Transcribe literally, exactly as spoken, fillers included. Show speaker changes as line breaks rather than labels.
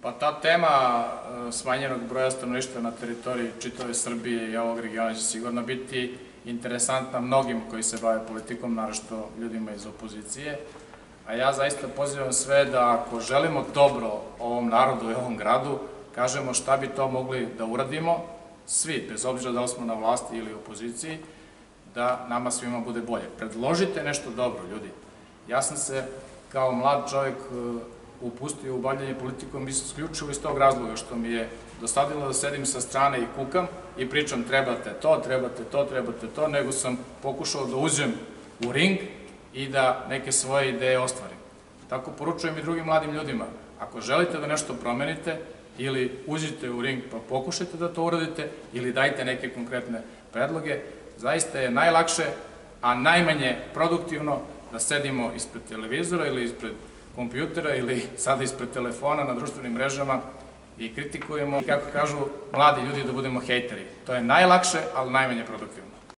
Pa ta tema smanjenog broja stanovništva na teritoriji čitave Srbije i ovog regiona će sigurno biti interesantna mnogim koji se bave politikom, naročito ljudima iz opozicije. A ja zaista pozivam sve da ako želimo dobro ovom narodu i ovom gradu, kažemo šta bi to mogli da uradimo, svi, bez obzira da li smo na vlasti ili opoziciji, da nama svima bude bolje. Predložite nešto dobro, ljudi. Ja sam se kao mlad čovjek upustio u bavljanje politikom isključivo iz tog razloga što mi je dosadilo da sedim sa strane i kukam i pričam trebate to, trebate to, trebate to, nego sam pokušao da uđem u ring i da neke svoje ideje ostvarim. Tako poručujem i drugim mladim ljudima. Ako želite da nešto promenite, ili uđite u ring pa pokušajte da to uradite, ili dajte neke konkretne predloge, zaista je najlakše, a najmanje produktivno da sedimo ispred televizora ili ispred kompjutera ili sada ispred telefona na društvenim mrežama i kritikujemo, kako kažu mladi ljudi, da budemo hejteri. To je najlakše, ali najmanje produktivno.